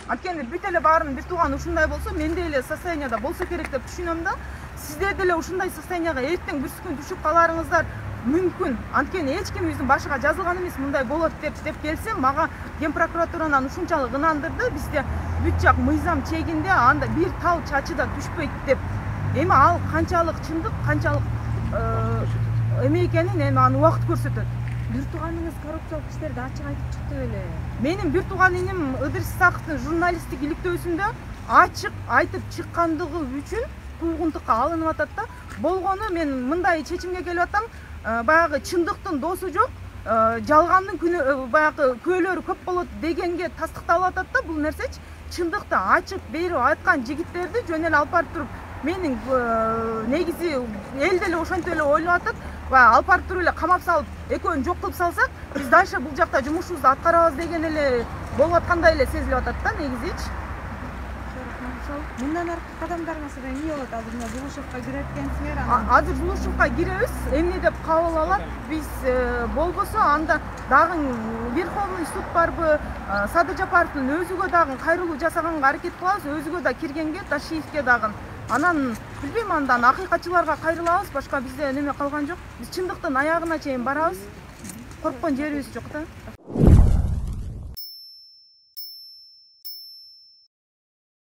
Анткени бүт эле баарын бир тууган ушундай болсо, мен деле состоянияда болсо керек деп түшүнөм да. Сиздер деле ушундай состоянияга эртең бир күн түшүп каларыңыздар мүмкүн. Анткени эч кимибиздин башыга жазылган эмес мындай болот деп келсе, мага Ген прокуратуранан ушунчалык ынандырды. Бизде бүт жак мыйзам чегинде, анда бир тал чачы да түшпөйт деп. Эми ал канчалык чындык, канчалык эме экенин эми аны убакыт көрсөтөт. Бир тууганыңыз коррупциялык иштерди ачык айтып чыкты беле? Менин бир тууган иним Ыдырыс Исаковдун журналисттик иликтөөсүндө ачык айтып чыккандыгы үчүн куугунтукка алынып атат да. Болгону мен мындай чечимге келип атам. Баягы чындыктын досу жок, жалгандын баягы күбөлөрү көп болот дегенге тастыкталып атат да бул нерсечи. Чындыкты ачык берип айткан жигиттерди жөн эле алып барып туруп менин негизи эл деле ошентип эле ойлоп атат. Алып барып туруп эле камап салып, экөөнү жок кылып салсак, биз дальше бул жакта жумушубузду аткарабыз деген эле болуп аткандай эле сезилип атат да негизичи. Мындан аркы кадамдарыңыз эмне болот? Азыр мына Жулушевка кире экенсиңер. Азыр Жулушевка киребиз. Эмне деп кабыл алат? Биз болбосо анда дагы Верховный суд барбы, Садыр Жапаровдун өзүгө дагы кайрылуу жасаганга аракет кылабыз, өзүгө да киргенге, Ташиевке дагы. Анан билбейм, андан акыйкатчыларга кайрылабыз, башка бизде неме калган жок. Биз чындыктын аягына чейин барабыз. Корккон жерибиз жок да.